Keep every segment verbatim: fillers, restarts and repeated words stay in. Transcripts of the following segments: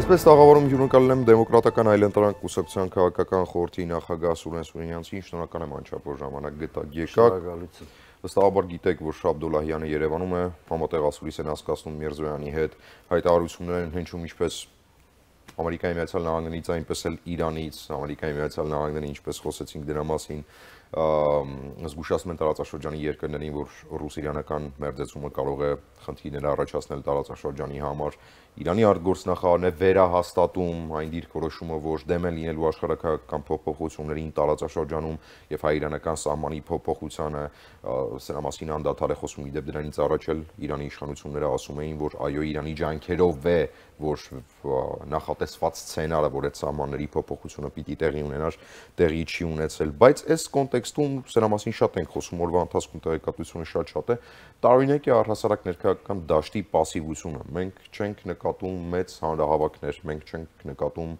Այսպես տաղավարում հյուրընկալել եմ Դեմոկրատական այլընտրանք կուսակցության քաղաքական խորհրդի նախագահ Սուրեն Սուրենյանցին, շնորհակալ եմ անչափ որ ժամանակ գտաք եկաք։ Վստահաբար գիտեք, որ Շաբդոլլահյանը Երևանում է, համատեղ ասուլիս են հասկացնում Միրզոյանի հետ, հայտարարություններ են հնչում ինչպես Ամերիկայի Միացյալ Նահանգներից, այնպես էլ Իրանից, Ամերիկայի Միացյալ Նահանգների, ինչպես խոսեցինք դրա մասին, զգուշացնում են տարածաշրջանի երկրներին, որ ռուս-իրանական մերձեցումը կարող է խնդիրներ առաջացնել տարածաշրջանի համար։ Իրանի արտգործնախարարն է վերահաստատում այն դիրքորոշումը, որ դեմ են լինելու աշխարհակահաղական փոփոխություններին տարածաշրջանում եւ հայ-իրանական սահմանի փոփոխությանը, սրա մասին անդադար է խոսում, իդեպ դրանից առաջ էլ Իրանի իշխանությունները ասում էին, որ այո, Իրանի ջանքերով է, որ նախատեսված սցենարը, որ այդ սահմանների փոփոխությունը պիտի տեղի ունենար, տեղի չի ունեցել, բայց այս կոնտեքստում սրա մասին շատ ենք խոսում, օրվա ընթացքում տեղեկատվությունը շատ-շատ է, տարօրինակ է առհասարակ ներքաղաքական դաշտի պասիվությունը։ Մենք չենք նկատում մեծ հանրահավաքներ, մենք չենք նկատում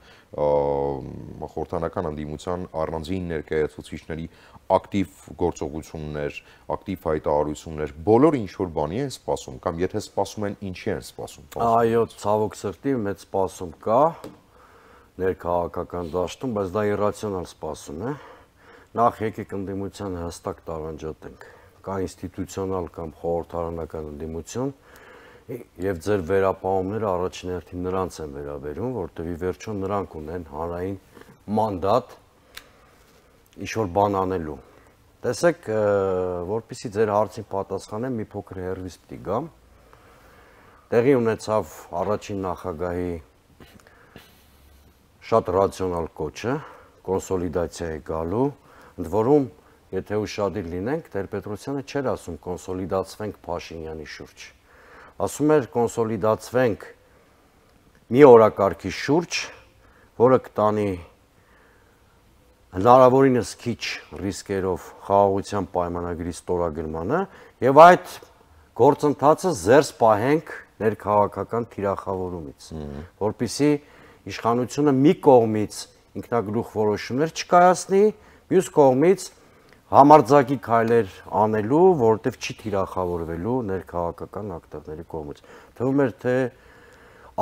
խորհրդանական ընդդիմության առանձին ներկայացուցիչների ակտիվ գործողություններ, ակտիվ հայտարարություններ, բոլորը ինչ-որ բանի են սպասում, կամ եթե սպասում են, ինչի են սպասում։ Այո, ցավոք սրտի մեծ սպասում կա ներքաղաքական դաշտում, բայց դա իրացիոնալ սպասում է։ Նախ եկեք ընդդիմությանը հստակ տարանջատենք, կա ինստիտուցիոնալ կամ խորհրդարանական ընդդիմություն, եւ ձեր վերապահումները առաջին հերթին նրանց են վերաբերում, որտեղ ի վերջո նրանք ունեն հանրային մանդատ ինչ-որ բան անելու։ Տեսեք, որպեսզի ձեր հարցին պատասխանեմ, մի փոքր հեռվից պիտի գամ։ Տեղի ունեցավ առաջին նախագահի շատ ռացիոնալ կոչը, կոնսոլիդացիա է գալու, ընդ որում, եթե ուշադիր լինենք, Տեր-Պետրոսյանը չէր ասում կոնսոլիդացվենք Փաշինյանի շուրջ, ասում էր կոնսոլիդացվենք մի օրակարգի շուրջ, որը կտանի հնարավորինս քիչ ռիսկերով խաղաղության պայմանագրի ստորագրմանը եւ այդ գործընթացը զերծ պահենք ներքաղաքական թիրախավորումից, որպեսզի իշխանությունը մի կողմից ինքնագլուխ որոշումներ չկայացնի, մյուս կողմից համարձակի քայլեր անելու, որովհետև չի թիրախավորվելու ներքաղաքական ակտորների կողմից։ Թվում էր, թե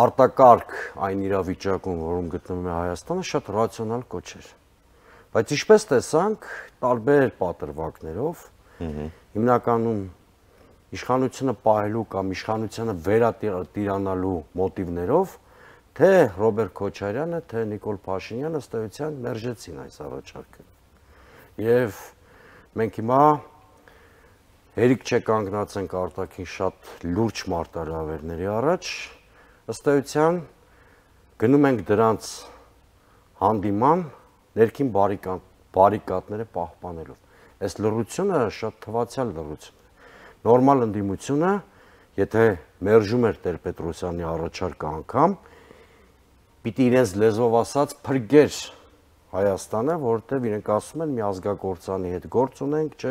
արտակարգ այն իրավիճակում, որում գտնվում է Հայաստանը, շատ ռացիոնալ կոչ էր։ Բայց ինչպես տեսանք, տարբեր պատրվակներով, հիմնականում իշխանությունը պահելու կամ իշխանությունը վերատիրանալու մոտիվներով, թե Ռոբերտ Քոչարյանը, թե Նիկոլ Փաշինյանը ըստ էության մերժեցին այս առաջարկը։ Եվ մենք հիմա հերիք չկանգնացենք արտաքին շատ լուրջ մարտահրավերների առաջ, ըստ էության գնում ենք դրանց հանդիման ներքին բարիկադները պահպանելով։ Այս լռությունը շատ թվացյալ լռություն է։ Նորմալ ընդդիմությունը, եթե մերժում էր Տեր-Պետրոսյանի առաջարկը անգամ, պիտի իրենց լեզվով ասած փրկեր Հայաստանը, որովհետև իրենք ասում են մի ազգակործանի հետ գործ ունենք, չէ,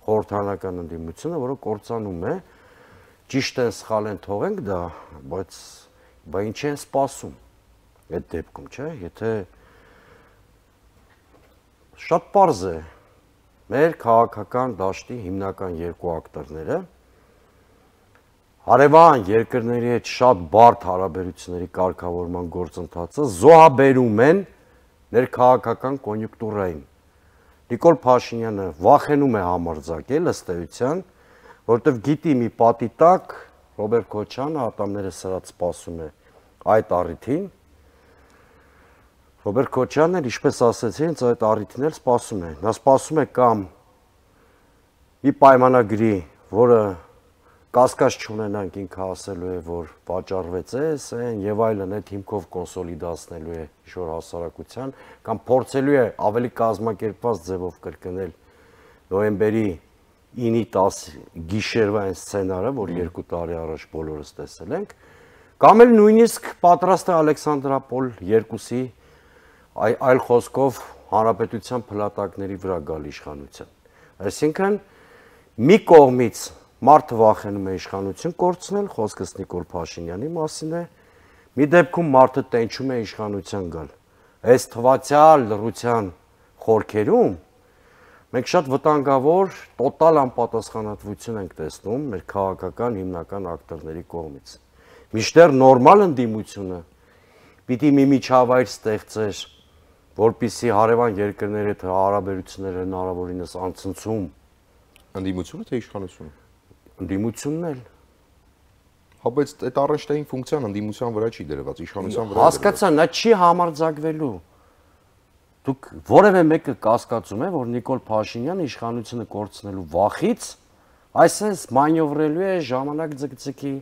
խորհրդարանական ընդդիմությունը, որը կործանում է, ճիշտ են, սխալ են, թողենք դա, բայց բա ինչ են սպասում այդ դեպքում, չէ, եթե շատ պարզ է, մեր քաղաքական դաշտի հիմնական երկու ակտորները հարևան երկրների հետ շատ բարդ հարաբերությունների կարգավորման գործընթացը զոհաբերում են ներքաղաքական կոնյունկտուրային։ Նիկոլ Փաշինյանը վախենում է համարձակել ըստ էության, որովհետև գիտի մի պատի տակ Ռոբերտ Քոչարյանը ատամները սրած սպասում է այդ առիթին։ Ռոբերտ Քոչարյանն էլ, ինչպես ասեցի, հենց այդ առիթին էլ սպասում է։ Նա սպասում է կամ մի պայմանագրի, որը կասկած չունենանք, ինքը ասելու է, որ վաճառվեց էս, այն եւ այլն, այդ հիմքով կոնսոլիդացնելու է ինչ-որ հասարակության, կամ փորձելու է ավելի կազմակերպված ձևով կրկնել նոյեմբերի ինի տաս գիշերվա այն սցենարը, որ երկու տարի առաջ բոլորս տեսել ենք, կամ էլ նույնիսկ պատրաստ է Ալեքսանդրապոլ երկուսի այլ խոսքով հանրապետության փլատակների վրա գալ իշխանության։ Այսինքն մի կողմից մարդը վախենում է իշխանություն կորցնել, խոսքս Նիկոլ Փաշինյանի մասին է, մի դեպքում մարդը տենչում է իշխանության գալ։ Այս թվացյալ լռության խորքերում մենք շատ վտանգավոր տոտալ անպատասխանատվություն ենք տեսնում մեր քաղաքական հիմնական ակտորների կողմից։ Մինչդեռ նորմալ ընդդիմությունը պիտի մի միջավայր ստեղծեր, որպեսզի հարևան երկրների հետ հարաբերությունները հնարավորինս անցնցում։ Ընդդիմությունը թե իշխանությունը։ Ընդդիմությունն էլ։ Հա, բայց այդ առաջտային ֆունկցիան ընդդիմության վրա չի դրված, իշխանության վրա է։ Հասկացա, նա չի համարձակվելու։ Դուք որևէ մեկը կասկածում է, որ Նիկոլ Փաշինյանը իշխանությունը կորցնելու վախից այսպես մանյովրելու է ժամանակ ձգձգի,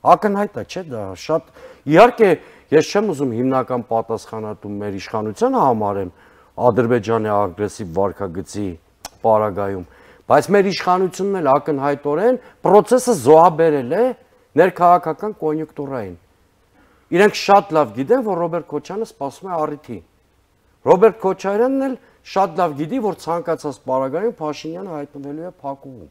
ակնհայտ է, չէ՞ դա, շատ իհարկե ես չեմ ուզում հիմնական պատասխանատու մեր իշխանությանը համարեմ Ադրբեջանի ագրեսիվ վարքագծի պարագայում, բայց մեր իշխանությունն էլ ակնհայտորեն process-ը զոհաբերել է ներքաղաքական կոնյունկտուրային։ Իրենք շատ լավ գիտեն, որ Ռոբերտ Քոչարյանը սպասում է առիթի։ Ռոբերտ Քոչարյանն էլ շատ լավ գիտի, որ ցանկացած պարագայում Փաշինյանը հայտնվելու է փակուղում։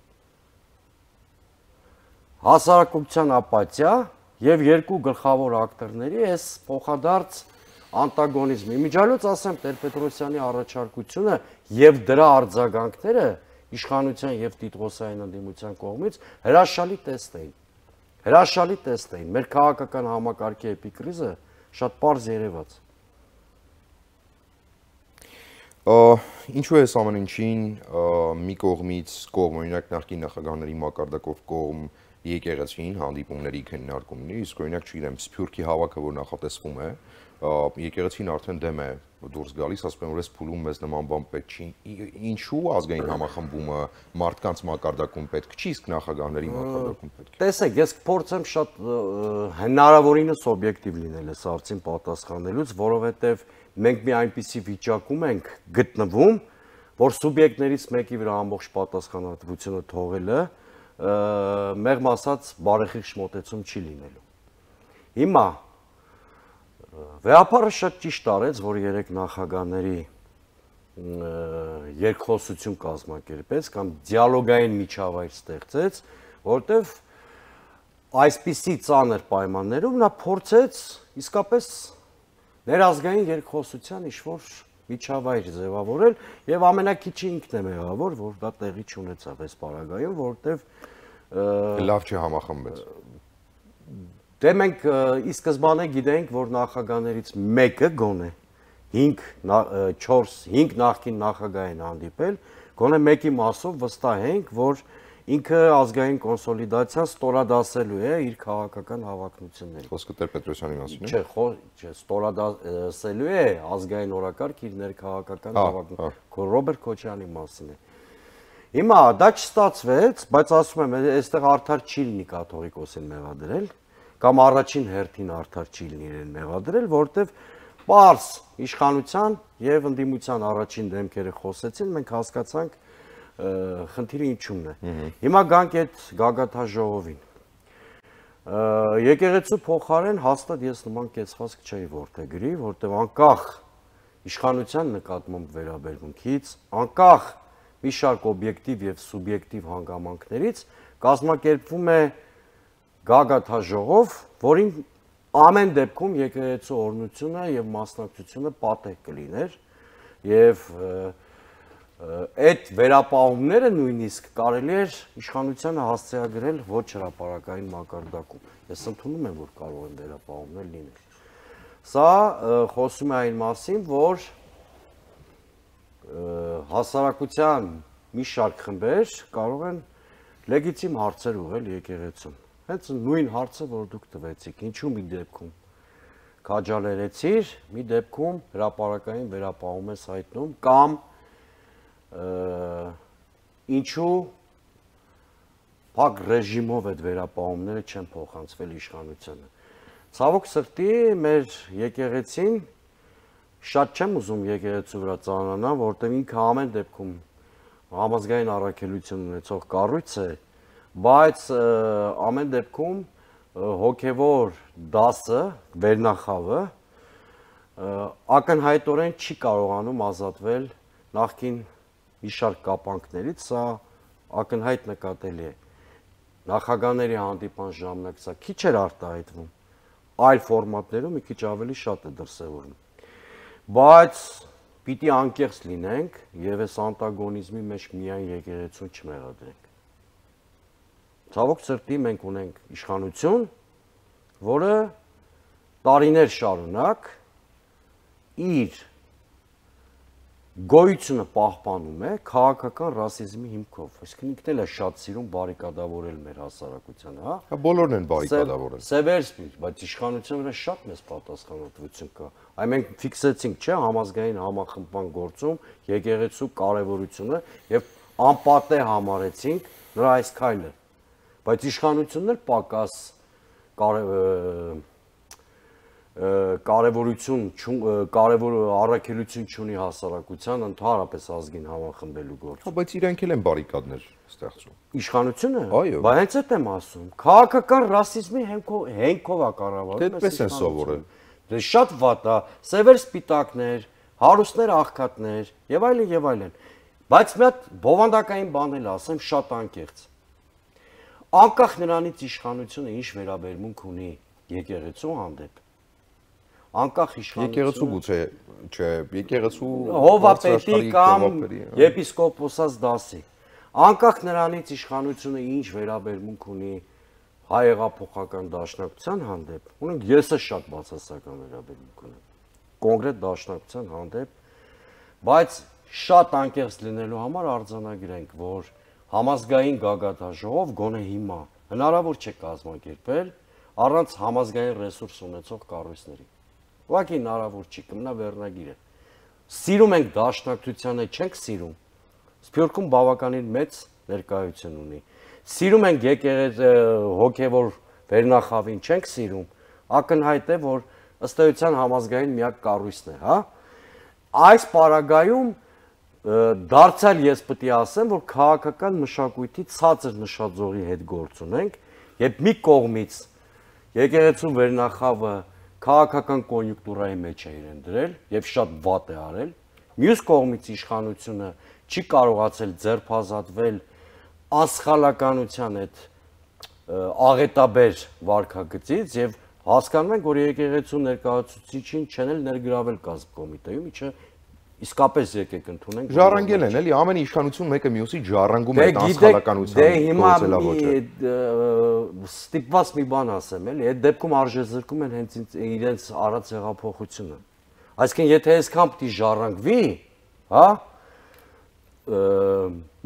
Հասարակության ապաթիա եւ երկու գլխավոր ակտորների այս փոխադարձ անտագոնիզմի միջալոց ասեմ Տեր-Պետրոսյանի առաջարկությունը եւ դրա արձագանքները իշխանության եւ տիտղոսային ընդդիմության կողմից հրաշալի տեստ էին։ Հրաշալի տեստ էին։ Մեր քաղաքական համակարգի էպիկրիզը շատ པարզ երևաց։ Ինչու է այս ամեն ինչին մի կողմից կողմ, օրինակ նախկին նախագահների մակարդակով կողմ եկեղեցին հանդիպումների քննարկումների, իսկ օրինակ չգիտեմ Սփյուռքի հավաքը, որ նախատեսվում է, եկեղեցին արդեն դեմ է դուրս գալիս, ասում են որ այս փուլում մեզ նման բան պետք չի։ Ինչու ազգային համախմբումը մարդկանց մակարդակում պետք չի, իսկ նախագահների մակարդակում պետք է։ Տեսեք, ես կփորձեմ շատ հնարավորինս օբյեկտիվ լինել այս հարցին պատասխանելուց, որովհետև մենք մի այնպիսի վիճակում ենք գտնվում, որ սուբյեկտներից մեկի վրա ամբողջ պատասխանատվությունը թողելը մեղմ ասած բարեխիղճ մոտեցում չի լինելու։ Հիմա վեհապարը շատ ճիշտ արեց, որ երեք նախագահների երկխոսություն կազմակերպեց կամ դիալոգային միջավայր ստեղծեց, որտեղ այսպիսի ծանր պայմաններում նա փորձեց իսկապես ներազգային երկխոսության ինչ-որ միջավայր ձևավորել եւ ամենակիչը ինքն է մեղավոր, որ դա տեղի չունեցավ այս պարագայում, որտեղ լավ չհամախմբեց։ Դե մենք ի սկզբանե գիտենք, որ նախագահներից մեկը գոնե հինգ չորս հինգ նախկին նախագահ են հանդիպել, գոնե մեկի մասով վստահ ենք, որ ինքը ազգային կոնսոլիդացիան ստորադասելու է իր քաղաքական հավակնությունները։ Խոսքը Տեր-Պետրոսյանի մասին է։ Չէ, չէ, ստորադասելու է ազգային օրակարգ իր ներքաղաքական հավակնություն։ Ռոբերտ Քոչարյանի մասին է։ Հիմա դա չստացվեց, բայց ասում եմ, այստեղ արդար չի լինի կաթողիկոսին մեղադրել, կամ առաջին հերթին արդար չի լինի իրեն մեղադրել, որովհետև պարզ իշխանության եւ ընդդիմության առաջին դեմքերը խոսեցին, մենք հասկացանք խնդիրը ինչումն է։ Հիմա գանք այդ գագաթաժողովին։ Եկեղեցու փոխարեն հաստատ ես նման կեցվածք չէի որդեգրի, որտեղ անկախ իշխանության նկատմամբ վերաբերմունքից, անկախ մի շարք օբյեկտիվ եւ սուբյեկտիվ հանգամանքներից կազմակերպվում է գագաթաժողով, որին ամեն դեպքում եկեղեցու օրհնությունը եւ մասնակցությունը պատեհ կլիներ եւ այդ վերապահումները նույնիսկ կարելի էր իշխանությանը հասցեագրել ոչ հրապարակային մակարդակում։ Ես ընդունում եմ, որ կարող են վերապահումներ լինել։ Սա խոսում է այն մասին, որ հասարակության մի շարք խմբեր կարող են լեգիտիմ հարցեր ուղղել եկեղեցուն։ Հենց նույն հարցը, որ դուք տվեցիք, ինչու մի դեպքում քաջալերեցիր, մի դեպքում հրապարակային վերապահում ես հայտնում կամ ինչու փակ ռեժիմով այդ վերապահումները չեն փոխանցվել իշխանությանը։ Ցավոք սրտի մեր եկեղեցին շատ չեմ ուզում եկեղեցու վրա ծանրանալ, որտեղ ինքը ամեն դեպքում համազգային առաքելություն ունեցող կառույց է, բայց ամեն դեպքում հոգևոր դասը, վերնախավը ակնհայտորեն չի կարողանում ազատվել նախկին մի շարք կապանքներից, սա ակնհայտ նկատելի է։ Նախագահների հանդիպան ժամանակ սա քիչ էր արտահայտվում, այլ ֆորմատներում մի քիչ ավելի շատ է դրսևորվում։ Բայց պիտի անկեղծ լինենք եւ այս անտագոնիզմի մեջ միայն եկեղեցուն չմեղադրենք։ Ցավոք սրտի մենք ունենք իշխանություն, որը տարիներ շարունակ իր գոյությունը պահպանում է քաղաքական ռասիզմի հիմքով։ Այսինքն ինքն էլ է շատ սիրում բարիկադավորել մեր հասարակությանը, հա։ Հա բոլորն են բարիկադավորել։ Սևերսպիր, բայց իշխանության վրա շատ մեծ պատասխանատվություն կա։ Այ մենք ֆիքսեցինք, չէ, համազգային համախմբման գործում եկեղեցու կարևորությունը եւ անպատե համարեցինք նրա այս քայլը։ Բայց իշխանությունն էլ պակաս կարևորություն, կարևոր առաքելություն չունի հասարակության, ընդհանրապես ազգին համախմբելու գործում։ Բայց իրենք էլ են բարիկադներ ստեղծում։ Իշխանությունը։ Այո։ Բայց հենց այդ եմ ասում։ Քաղաքական ռասիզմի հենքով հենքով է կառավարվում։ Դեպպես են սովորել։ Դե շատ վատ է, սևեր սպիտակներ, հարուստներ աղքատներ եւ այլն եւ այլն։ Բայց մի հատ բովանդակային բան էլ ասեմ, շատ անկեղծ։ Անկախ նրանից իշխանությունը ինչ վերաբերմունք ունի եկեղեցու հանդեպ, անկախ իշխանությունը եկեղեցու գուցե չէ, եկեղեցու հովապետի կամ եպիսկոպոսած դասի, անկախ նրանից իշխանությունը ինչ վերաբերմունք ունի հայեղափոխական դաշնակցության հանդեպ, ունենք ես է շատ բացասական վերաբերմունք ունեմ կոնկրետ դաշնակցության հանդեպ, բայց շատ անկեղծ լինելու համար արձանագրենք, որ համազգային գագաթաժողով գոնե հիմա հնարավոր չէ կազմակերպել առանց համազգային ռեսուրս ունեցող կառույցների։ Ուղղակի հնարավոր չի, կմնա վերնագիրը։ Սիրում ենք դաշնակցությանը, չենք սիրում։ Սփյուռքում բավականին մեծ ներկայություն ունի։ Սիրում ենք եկեղեցի հոգևոր վերնախավին, չենք սիրում։ Ակնհայտ է, որ ըստ էության համազգային միակ կառույցն է, հա։ Այս պարագայում դարձյալ ես պետք է ասեմ, որ քաղաքական մշակույթի ցածր նշաձողի հետ գործ ունենք, եւ մի կողմից եկեղեցու վերնախավը քաղաքական կոնյունկտուրայի մեջ է իրեն դրել եւ շատ վատ է արել, մյուս կողմից իշխանությունը չի կարողացել ձերբազատվել անսխալականության այդ աղետաբեր վարքագծից եւ հասկանում ենք, որ եկեղեցու ներկայացուցիչին չեն էլ ներգրավել կազմ կոմիտեում, ինչը իսկապես եկեք ընդունենք։ Ժառանգել են, էլի, ամեն իշխանություն մեկը մյուսի ժառանգում է այդ անսխալականության գործելավոճը։ Դե հիմա ստիպված մի բան ասեմ, էլի, այդ դեպքում արժեզրկում են հենց իրենց արած հեղափոխությունը։ Այսինքն, եթե այսքան պիտի ժառանգվի, հա,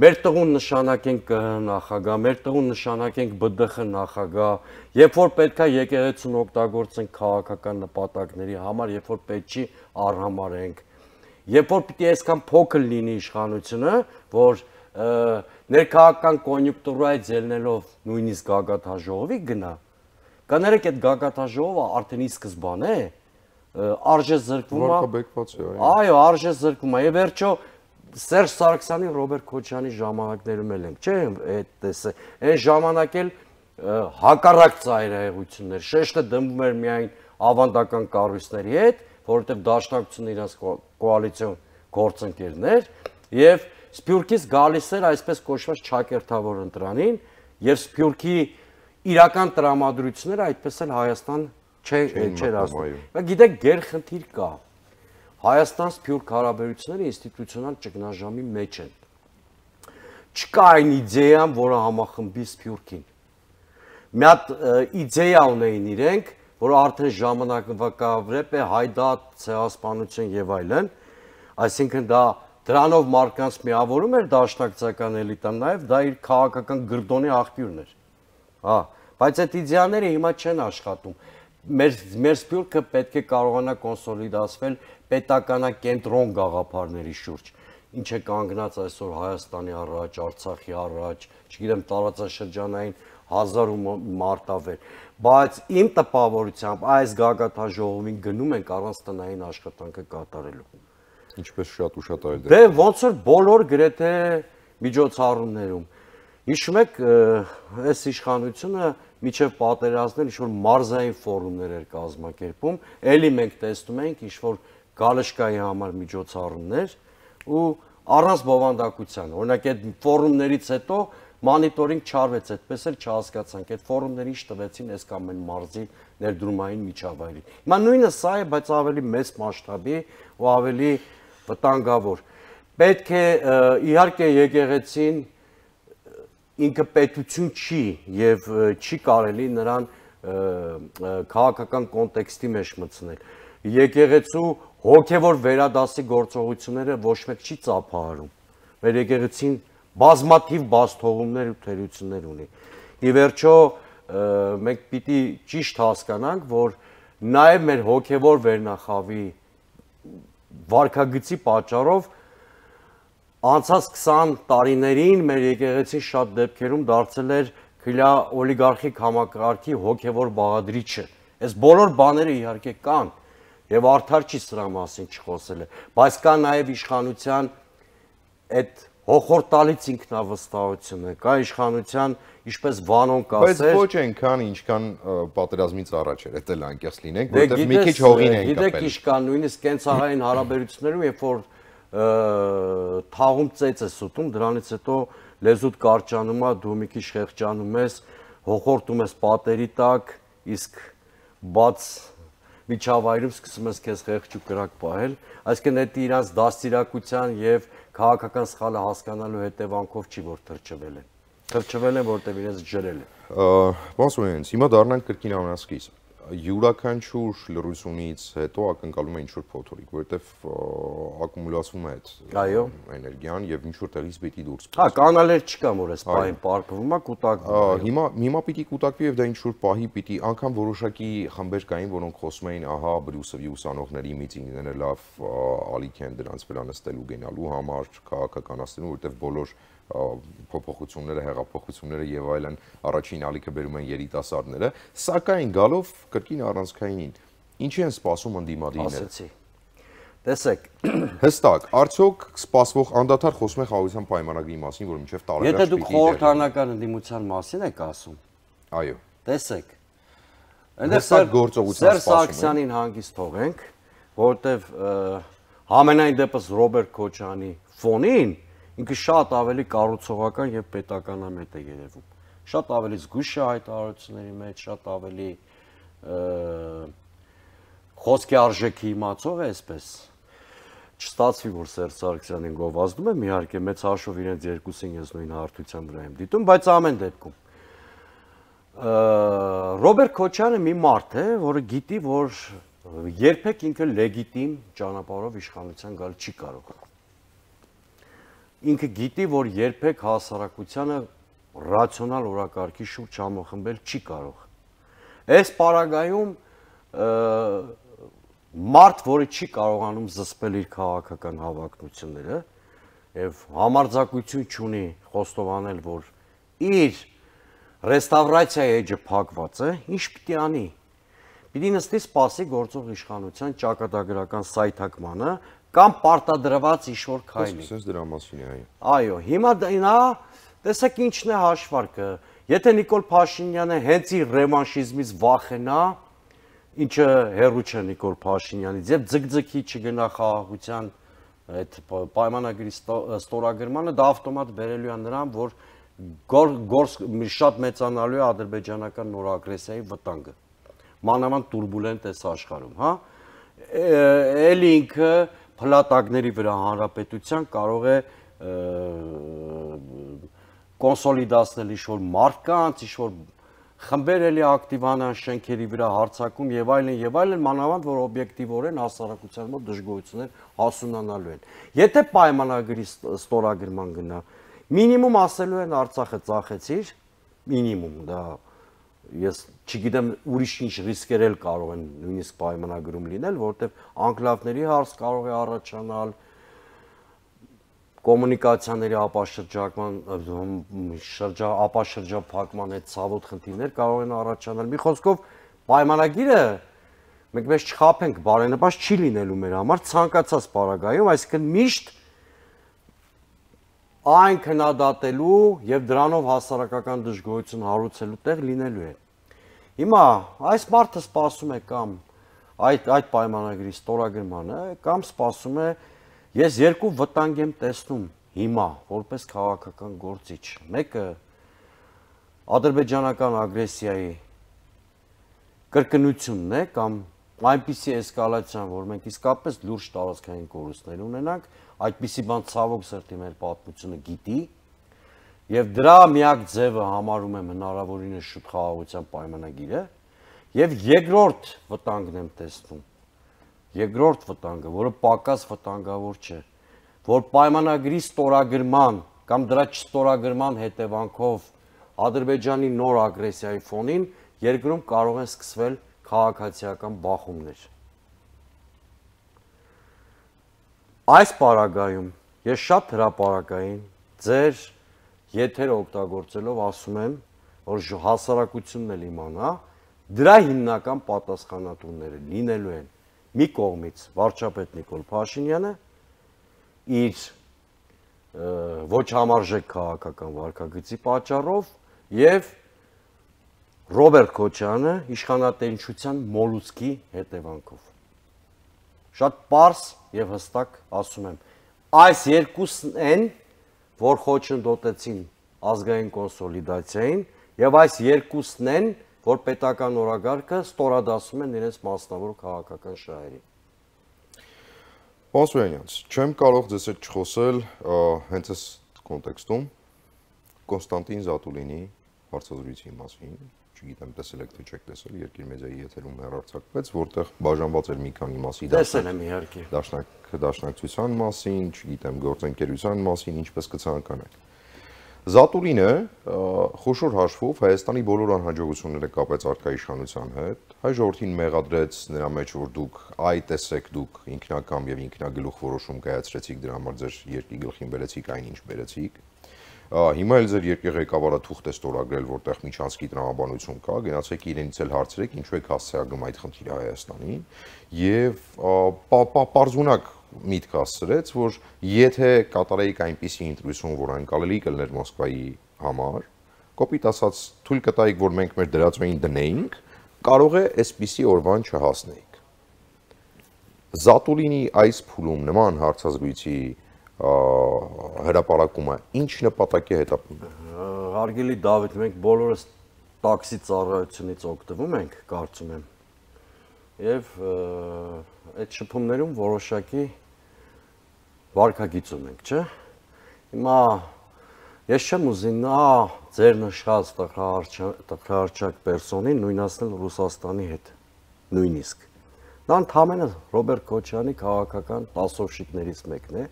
մեր տղուն նշանակենք ԿՀ նախագահ, մեր տղուն նշանակենք ԲԴԽ նախագահ, երբ որ պետք է եկեղեցուն օգտագործենք քաղաքական նպատակների համար, երբ որ պետք չի արհամարենք, երբ որ պիտի այսքան փոքր լինի իշխանությունը, որ ներքաղաքական կոնյունկտուրայից ելնելով նույնիսկ գագաթաժողովի գնա, կներեք այդ գագաթաժողովը արդեն ի սկզբանե արժեզրկվում է։ Այո, արժեզրկվում է։ Եվ վերջո Սերժ Սարգսյանի, Ռոբերտ Քոչարյանի ժամանակներում էլ ենք, չէ՞, այդ տեսը, այն ժամանակ էլ հակառակ ծայրահեղություններ, շեշտը դնվում էր միայն ավանդական կառույցների հետ, որովհետև դաշնակցությունը իրենց կոալիցիոն գործընկերներ, եւ Սփյուռքից գալիս էր այսպես կոչված ճակերտավոր ընտրանին, եւ Սփյուռքի իրական տրամադրությունները այդպես էլ Հայաստան չէր ասում։ Բայց գիտեք, գերխնդիր կա։ Հայաստան-Սփյուռք հարաբերությունները ինստիտուցիոնալ ճգնաժամի մեջ են։ Չկա այն իդեան, որը համախմբի Սփյուռքին։ Մի հատ իդեա ունեին իրենք, որը արդեն ժամանակավրեպ է, հայդատ, ցեղասպանություն եւ այլն, այսինքն դա դրանով մարդկանց միավորում էր դաշնակցական էլիտան, նաեւ դա իր քաղաքական գրդոնի աղբյուրն էր։ Հա, բայց այդ իդեաները հիմա չեն աշխատում։ Մեր մեր Սփյուռքը պետք է կարողանա կոնսոլիդացվել պետականակենտրոն գաղափարների շուրջ, ինչ է կանգնած այսօր Հայաստանի առաջ, Արցախի առաջ, չգիտեմ, տարածաշրջանային հազար մարտավեր, բայց իմ տպավորությամբ այս գագաթաժողովին գնում ենք առանց տնային աշխատանքը կատարելու։ Ինչպես շատ ու շատ այլ դեպքեր։ Դե ոնց որ բոլոր գրեթե միջոցառումներում։ Հիշում եք, այս իշխանությունը միջև պատերազմներ ինչ-որ մարզային ֆորումներ էր կազմակերպում, էլի մենք տեսնում ենք ինչ-որ գալշկայի համար միջոցառումներ ու առանց բովանդակության։ Օրինակ այդ ֆորումներից հետո մոնիտորինգ չարվեց, այդպես էլ չհասկացանք, այդ ֆորումները ինչ տվեցին այս կամ այն մարզի ներդրումային միջավայրին։ Հիմա նույնը սա է, բայց ավելի մեծ մասշտաբի ու ավելի վտանգավոր։ Պետք է իհարկե եկեղեցին ինքը պետություն չի եւ չի կարելի նրան քաղաքական կոնտեքստի մեջ մտցնել։ Եկեղեցու հոգևոր վերադասի գործողությունները ոչ մեկ չի ծափահարում։ Մեր եկեղեցին բազմաթիվ բացթողումներ ու թերություններ ունի։ Ի վերջո մենք պիտի ճիշտ հասկանանք, որ նաև մեր հոգևոր վերնախավի վարքագծի պատճառով անցած քսան տարիներին մեր եկեղեցին շատ դեպքերում դարձել էր քիլա օլիգարխիկ համակարգի հոգևոր բաղադրիչը։ Այս բոլոր բաները իհարկե կան եւ արդար չի սրա մասին չխոսելը, բայց կա նաեւ իշխանության այդ հոխորտալից ինքնավստահությունը, կա իշխանության, ինչպես Վանոն կասեր, բայց ոչ այնքան ինչքան պատերազմից առաջ էր, դա անկեղծ լինենք, որովհետեւ մի քիչ հողին են կապել։ Գիտեք ինչ կան, նույնիսկ կենցաղային հարաբերություններում, երբ որ թաղում ծեծ ես ուտում, դրանից հետո լեզուդ կարճանում է, դու մի քիչ խեղճանում ես, հոխորտում ես պատերի տակ, իսկ բաց միջավայրում սկսում ես քեզ խեղճ ու կրակ պահել, այսինքն դա իրանց դաստիարակության եւ քաղաքական սխալը հասկանալու հետևանքով չի որ թրջվել են։ Թրջվել են, որտեղ իրենց ջրել են։ Ոնց հիմա դառնանք կրկին ամենասկիզբ։ Յուրաքանչյուր լրությունից հետո ակնկալում է ինչ-որ փոթորիկ, որովհետև ակումուլացվում է այդ էներգիան եւ ինչ-որ տեղից պիտի դուրս գա։ Հա, կանալեր չկա, որ այս պահին պարկվում է, կուտակվում։ Հիմա հիմա պիտի կուտակվի եւ դա ինչ-որ պահի պիտի անգամ որոշակի խմբեր կային, որոնք խոսում էին, ահա Բրյուսովի ուսանողների միտինգները լավ ալիք են դրանց վերանստելու գնալու համար, քաղաքականացնելու, որովհետև բոլոր փոփոխությունները, հեղափոխությունները եւ այլն առաջին ալիքը բերում են երիտասարդները, սակայն գալով կրկին առանցքայինին, ինչի են սպասում ընդդիմադիրները։ Ասեցի։ Տեսեք, հստակ, արդյոք սպասվող անդադար խոսում է խաղաղության պայմանագրի մասին, որ մինչև տարեվերջ եթե դուք խորհրդարանական ընդդիմության մասին եք ասում, այո։ Տեսեք, հստակ գործողության սպասում են։ Սերժ Սարգսյանին հանգիստ թողենք, որովհետեւ համենայն դեպս Ռոբերտ Քոչարյանի ֆոնին ինքը շատ ավելի կառուցողական եւ պետականամետ է երևում։ Շատ ավելի զգույշ է հայտարարությունների մեջ, շատ ավելի խոսքի արժեքի իմացող է, այսպես։ Չստացվի, որ Սերժ Սարգսյանին գովազդում եմ, իհարկե մեծ հաշվով իրենց երկուսին ես նույն հարթության վրա եմ դիտում, բայց ամեն դեպքում Ռոբերտ Քոչարյանը մի մարդ է, որը գիտի, որ երբեք ինքը լեգիտիմ ճանապարհով իշխանության գալ չի կարող։ Ինքը գիտի, որ երբեք հասարակությանը ռացիոնալ օրակարգի շուրջ համախմբել չի կարող։ Այս պարագայում մարդ, որը չի կարողանում զսպել իր քաղաքական հավակնությունները եւ համարձակություն չունի խոստովանել, որ իր ռեստավրացիայի էջը փակված է, ինչ պիտի անի։ Պիտի նստի սպասի գործող իշխանության ճակատագրական սայթակմանը կամ պարտադրված ինչ-որ քայլի։ Այսպես դրա մասին է, այո։ Այո, հիմա նա տեսեք ինչն է հաշվարկը։ Եթե Նիկոլ Փաշինյանը հենց իր ռևանշիզմից վախենա, ինչը հերու չէ Նիկոլ Փաշինյանից, եւ ձգձգի չգնա խաղաղության այդ պայմանագրի ստորագրմանը, դա ավտոմատ բերելու է նրան, որ գործ շատ մեծանալու է ադրբեջանական նոր ագրեսիայի վտանգը։ Մանավանդ տուրբուլենտ է աշխարհում, հա։ Էլի ինքը փլատակների վրա հանրապետության կարող է կոնսոլիդացնել ինչ-որ մարդկանց, ինչ-որ խմբեր էլի ակտիվանան շենքերի վրա հարձակում եւ այլն եւ այլն, մանավանդ որ օբյեկտիվորեն հասարակության մոտ դժգոհություններ հասունանալու են։ Եթե պայմանագրի ստորագրման գնա, մինիմում ասելու են Արցախը ծախեցիր, մինիմում դա ես չգիտեմ ուրիշ ինչ ռիսկեր էլ կարող են նույնիսկ պայմանագրում լինել, որովհետև անկլավների հարց կարող է առաջանալ, կոմունիկացիաների ապաշրջակման, շրջա ապաշրջափակման այդ ցավոտ խնդիրներ կարող են առաջանալ։ Մի խոսքով պայմանագիրը մենք մեզ չխափենք, բարենպաստ չի լինելու մեր համար ցանկացած պարագայում, այսինքն միշտ այն քննադատելու եւ դրանով հասարակական դժգոհություն հարուցելու տեղ լինելու է։ Հիմա այս մարդը սպասում է կամ այդ այդ պայմանագրի ստորագրմանը, կամ սպասում է ես երկու վտանգ եմ տեսնում հիմա որպես քաղաքական գործիչ։ Մեկը ադրբեջանական ագրեսիայի կրկնությունն է կամ այնպիսի էսկալացիան, որ մենք իսկապես լուրջ տարածքային կորուստներ ունենանք, այդպիսի բան ցավոք սրտի մեր պատմությունը գիտի, եւ դրա միակ ձևը համարում եմ հնարավորինս շուտ խաղաղության պայմանագիրը, եւ երկրորդ վտանգն եմ տեսնում, երկրորդ վտանգը, որը պակաս վտանգավոր չէ, որ պայմանագրի ստորագրման կամ դրա չստորագրման հետևանքով Ադրբեջանի նոր ագրեսիայի ֆոնին երկրում կարող են սկսվել քաղաքացիական բախումներ։ Այս պարագայում ես շատ հրապարակային ձեր եթերը օգտագործելով ասում եմ, որ հասարակությունն էլ իմանա, դրա հիմնական պատասխանատուները լինելու են մի կողմից վարչապետ Նիկոլ Փաշինյանը իր ոչ համարժեք քաղաքական վարքագծի պատճառով եւ Ռոբերտ Քոչարյանը իշխանատենչության մոլուցքի հետևանքով։ Շատ պարզ եւ հստակ ասում եմ, այս երկուսն են, որ խոչընդոտեցին ազգային կոնսոլիդացիային եւ այս երկուսն են, որ պետական օրագարկը ստորադասում են իրենց մասնավոր քաղաքական շահերին։ Պարոն Սուրյանյանց, չեմ կարող ձեզ հետ չխոսել հենց այս կոնտեքստում Կոնստանտին Զատուլինի հարցազրույցի մասին, չգիտեմ տեսել եք թե չեք տեսել, Երկիր մեդիայի եթերում հեռարձակվեց, որտեղ բաժանված էր մի քանի մասի տեսել եմ իհարկե դաշնակ դաշնակցության մասին, չգիտեմ գործընկերության մասին, ինչպես կցանկանաք։ Զատուլինը խոշոր հաշվով Հայաստանի բոլոր անհաջողությունները կապեց արկա իշխանության հետ, հայ ժողովրդին մեղադրեց նրա մեջ, որ դուք այ տեսեք դուք ինքնակամ եւ ինքնագլուխ որոշում կայացրեցիք, դրա համար ձեր երկրի գլխին բերեցիք այն ինչ բերեցիք։ Հիմա էլ ձեր երկրի ղեկավարը թուղթ է ստորագրել, որտեղ միջանցքի տրամաբանություն կա, գնացեք իրենից էլ հարցրեք, ինչու եք հասցեագում այդ խնդիրը Հայաստանին, եւ պարզունակ միտք հասցրեց, որ եթե կատարեիք այնպիսի ընտրություն, որ անկալելի կլներ Մոսկվայի համար, կոպիտ ասած թույլ կտայիք, որ մենք մեր դրածոյին դնեինք, կարող է այսպիսի օրվան չհասնեիք։ Զատուլինի այս փուլում նման հարցազրույցի հրապարակումը ինչ նպատակի հետապնդում։ Հարգելի Դավիթ, մենք բոլորս տաքսի ծառայությունից օգտվում ենք, կարծում եմ։ Եվ այդ շփումներում որոշակի վարքագիծ ունենք, չէ՞։ Հիմա ես չեմ ուզի նա ձեր նշած տխրահարճակ պերսոնին նույնացնել Ռուսաստանի հետ, նույնիսկ։ Նա ընդհանրապես Ռոբերտ Քոչարյանի քաղաքական տասովշիկներից մեկն է,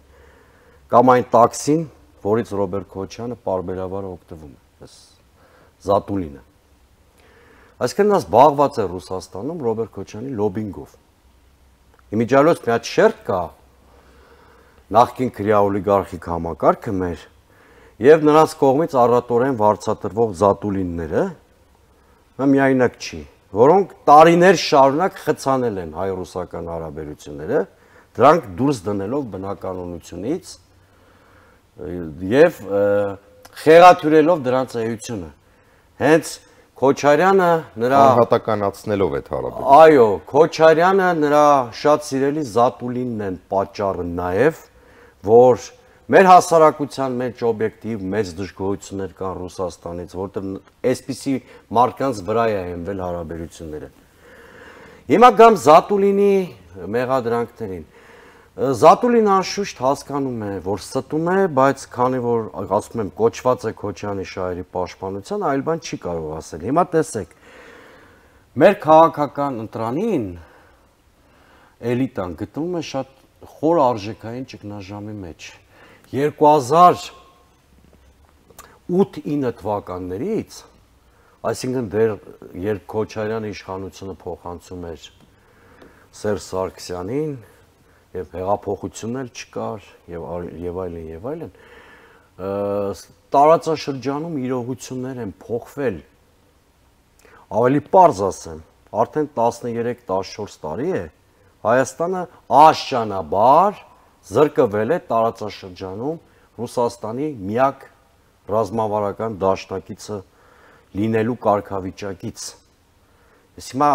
կամ այն տաքսին, որից Ռոբերտ Քոչյանը պարբերաբար օգտվում է, այս Զատուլինը։ Այսինքն նա զբաղված է Ռուսաստանում Ռոբերտ Քոչյանի լոբինգով։ Իմիջիալոց մի հատ շերտ կա, նախկին քրեաօլիգարխիկ համակարգը մեր, եւ նրանց կողմից առատորեն վարձատրվող Զատուլինները, նա միայնակ չի, որոնք տարիներ շարունակ խցանել են հայ-ռուսական հարաբերությունները, դրանք դուրս դնելով բնականոնությունից եւ խեղաթյուրելով դրանց էությունը։ Հենց Քոչարյանը նրա անհատականացնելով այդ հարաբերությունը։ Այո, Քոչարյանը նրա շատ սիրելի Զատուլինն են պատճառը նաեւ, որ մեր հասարակության մեջ օբյեկտիվ մեծ դժգոհություններ կան Ռուսաստանից, որտեղ այսպիսի մարդկանց վրա է հենվել հարաբերությունները։ Հիմա գամ Զատուլինի մեղադրանքներին։ Զատուլինը անշուշտ հասկանում է, որ ստում է, բայց քանի որ ասում եմ կոչված է Քոչյանի շահերի պաշտպանության, այլ բան չի կարող ասել։ Հիմա տեսեք, մեր քաղաքական ընտրանին էլիտան գտնվում է շատ խոր արժեքային ճգնաժամի մեջ։ երկու հազար ութ ինը թվականներից, այսինքն դեռ երբ Քոչարյանը իշխանությունը փոխանցում էր Սերժ Սարգսյանին, եւ հեղափոխությունն էլ չկար եւ եւ այլն եւ այլն, տարածաշրջանում իրողություններ են փոխվել։ Ավելի պարզ ասեմ, արդեն տասներեք տասնչորս տարի է Հայաստանը աշճանաբար զրկվել է տարածաշրջանում Ռուսաստանի միակ ռազմավարական դաշնակիցը լինելու կարգավիճակից։ Ես հիմա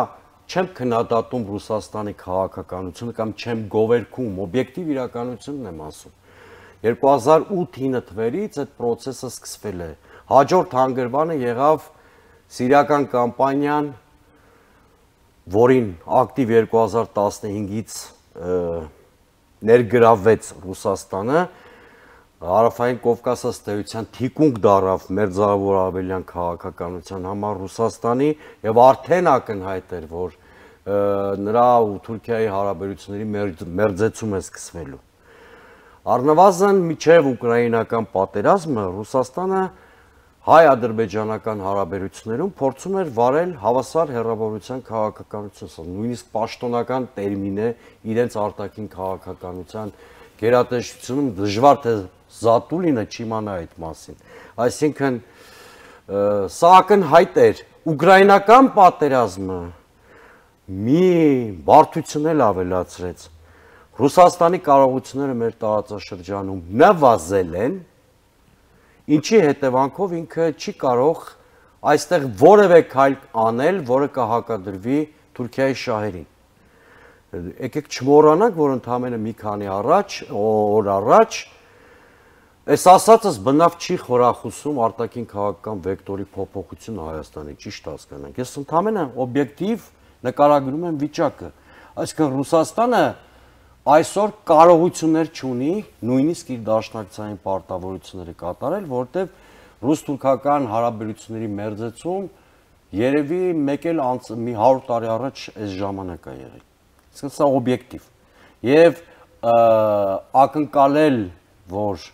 չեմ քննադատում Ռուսաստանի քաղաքականությունը կամ չեմ գովերքում, օբյեկտիվ իրականությունն եմ ասում։ երկու հազար ութ ինը թվերից այդ process-ը սկսվել է։ Հաջորդ հանգրվանը եղավ սիրիական կամպանիան, որին ակտիվ երկու հազար տասնհինգից ներգրավվեց Ռուսաստանը, Հարավային Կովկասը ստեյության թիկունք դարավ մերձավոր ավելյան քաղաքականության համար Ռուսաստանի եւ արդեն ակնհայտ էր, որ նրա ու Թուրքիայի հարաբերությունների մերձեցում է սկսվելու։ Առնվազն միջև ուկրաինական պատերազմը Ռուսաստանը հայ-ադրբեջանական հարաբերություններում փորձում էր վարել հավասար հեռավորության քաղաքականություն, նույնիսկ պաշտոնական տերմին է իրենց արտաքին քաղաքականության գերատեսչությունում դժվար թե Զատուլինը չիմանա այդ մասին։ Այսինքն սա ակնհայտ էր ուկրաինական պատերազմը մի բարդություն էլ ավելացրեց։ Ռուսաստանի կարողությունները մեր տարածաշրջանում նվազել են, ինչի հետևանքով ինքը չի կարող այստեղ որևէ քայլ անել, որը կհակադրվի Թուրքիայի շահերին։ Եկեք չմոռանանք, որ ընդամենը մի քանի առաջ, օր առաջ այս ասածս բնավ չի խորախուսում արտաքին քաղաքական վեկտորի փոփոխությունը Հայաստանի, ճիշտ հասկանանք։ Ես ընդամենը օբյեկտիվ նկարագրում եմ վիճակը։ Այսինքն Ռուսաստանը այսօր կարողություններ չունի նույնիսկ իր դաշնակցային պարտավորությունները կատարել, որտեղ ռուս-թուրքական հարաբերությունների մերձեցում երևի մեկ էլ մի հարյուր տարի առաջ այս ժամանակ է եղել։ Իսկ սա օբյեկտիվ։ Եվ ակնկալել, որ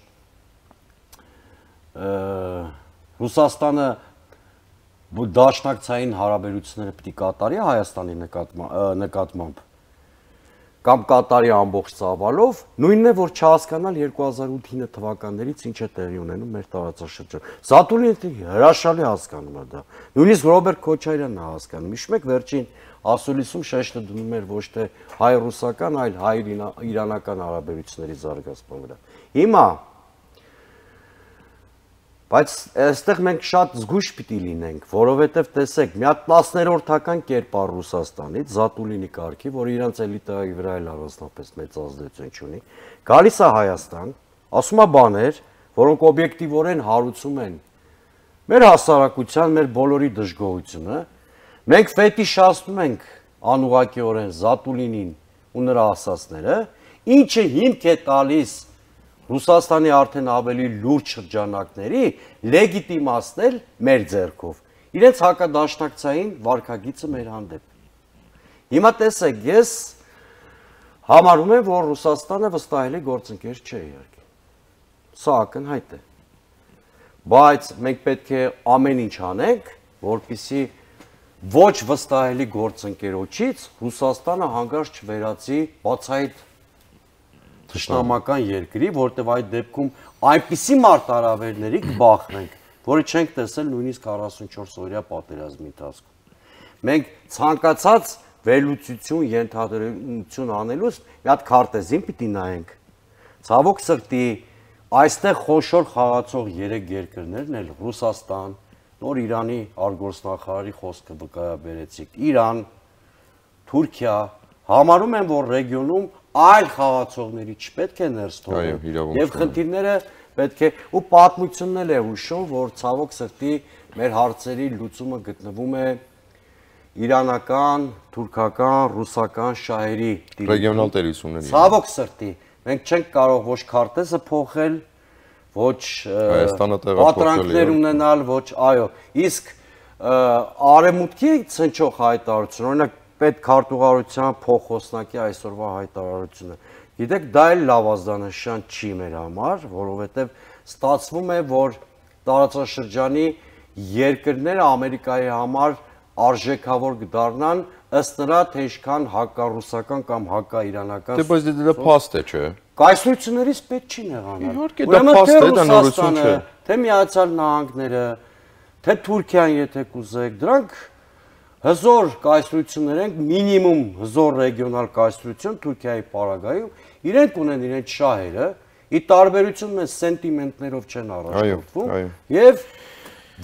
Ռուսաստանը դաշնակցային հարաբերությունները պիտի կատարի Հայաստանի նկատմամբ կամ կատարի ամբողջ ծավալով, նույնն է, որ չհասկանալ երկու հազար ութ թվականներից ինչ է տեղի ունենում մեր տարածաշրջանում։ Զատուլինը հրաշալի հասկանում է դա։ Նույնիսկ Ռոբերտ Քոչարյանն է հասկանում։ Հիշում եք վերջին ասուլիսում շեշտը դնում էր ոչ թե հայ-ռուսական, այլ հայ-իրանական հարաբերությունների զարգացման վրա։ Հիմա բայց այստեղ մենք շատ զգույշ պիտի լինենք, որովհետև տեսեք, մի հատ տասներորդական կերպար Ռուսաստանից, Զատուլինի կարգի, որ իրանց էլիտայի վրա էլ առանձնապես մեծ ազդեցություն չունի, գալիս է Հայաստան, ասում է բաներ, որոնք օբյեկտիվորեն հարուցում են մեր հասարակության, մեր բոլորի դժգոհությունը, մենք ֆետիշացնում ենք անուղղակիորեն Զատուլինին ու նրա ասածները, ինչը հիմք է տալիս Ռուսաստանի արդեն ավելի լուրջ շրջանակների լեգիտիմացնել մեր ձեռքով, իրենց հակադաշնակցային վարքագիծը մեր հանդեպ։ Հիմա տեսեք, ես համարում եմ, որ Ռուսաստանը վստահելի գործընկեր չէ իհարկե։ Սա ակնհայտ է։ Բայց մենք պետք է ամեն ինչ անենք, որպեսզի ոչ վստահելի գործընկերոջից Ռուսաստանը հանկարծ չվերածի բացահայտ թշնամական երկրի, որտեղ այդ դեպքում այնպիսի մարտահրավերների կբախվենք, որը չենք տեսել նույնիսկ քառասունչորս օրյա պատերազմի ընթացքում։ Մենք ցանկացած վերլուծություն, ենթադրություն անելուց մի հատ քարտեզին պիտի նայենք։ Ցավոք սրտի, այստեղ խոշոր խաղացող երեք երկրներն էլ Ռուսաստան, նոր Իրանի արտգործնախարարի խոսքը վկայաբերեցիք, Իրան, Թուրքիա, համարում են, որ ռեգիոնում այլ խաղացողների չպետք է ներս թողնել եւ խնդիրները պետք է ու պատմությունն էլ է հուշում, որ ցավոք սրտի մեր հարցերի լուծումը գտնվում է իրանական, թուրքական, ռուսական շահերի ռեգիոնալ տերությունների։ Ցավոք սրտի մենք չենք կարող ոչ քարտեզը փոխել, ոչ պատրանքներ ունենալ, ոչ այո, իսկ արևմուտքի ցնչող հայտարարություն, օրինակ պետքարտուղարության փոխոսնակի այսօրվա հայտարարությունը։ Գիտեք, դա էլ լավ ազդանշան չի մեր համար, որովհետև ստացվում է, որ տարածաշրջանի երկրները Ամերիկայի համար արժեքավոր կդառնան ըստ նրա, թե ինչքան հակառուսական կամ հակաիրանական։ Դե բայց դա փաստ է, չէ։ Կայսրություններից պետք չի նեղանալ։ Իհարկե դա փաստ է, դա նորություն չէ։ Թե Միացյալ Նահանգները, թե Թուրքիան, եթե կուզեք, դրանք հզոր կայսրություններ են, մինիմում հզոր ռեգիոնալ կայսրություն Թուրքիայի պարագայում, իրենք ունեն իրենց շահերը, ի տարբերություն մեզ սենտիմենտներով չեն առաջնորդվում, եւ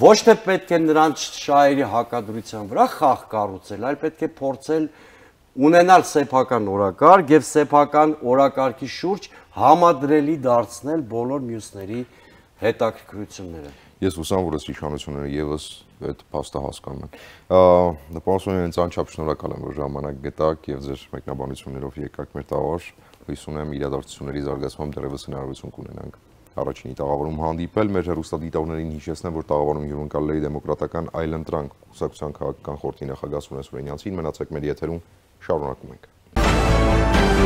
ոչ թե պետք է նրանց շահերի հակադրության վրա խաղ կառուցել, այլ պետք է փորձել ունենալ սեփական օրակարգ եւ սեփական օրակարգի շուրջ համադրելի դարձնել բոլոր մյուսների հետաքրքրությունները։ Ես հուսամ, որ այս իշխանությունները եւս այդ փաստը հասկանում են։ Պարոն ինձ անչափ շնորհակալ եմ, որ ժամանակ գտաք եւ ձեր մեկնաբանություններով եկաք մեր տաղար։ Հույս ունեմ իրադարձությունների զարգացմամբ դեռևս հնարավորություն կունենանք առաջինի տաղավարում հանդիպել։ Մեր հեռուստադիտողներին հիշեցնեմ, որ տաղավարում հյուրընկալել է Դեմոկրատական այլընտրանք կուսակցության քաղաքական խորհրդի նախագահ Սուրեն Սուրենյանցին։ Մնացեք մեր եթերում, շարունակում ենք։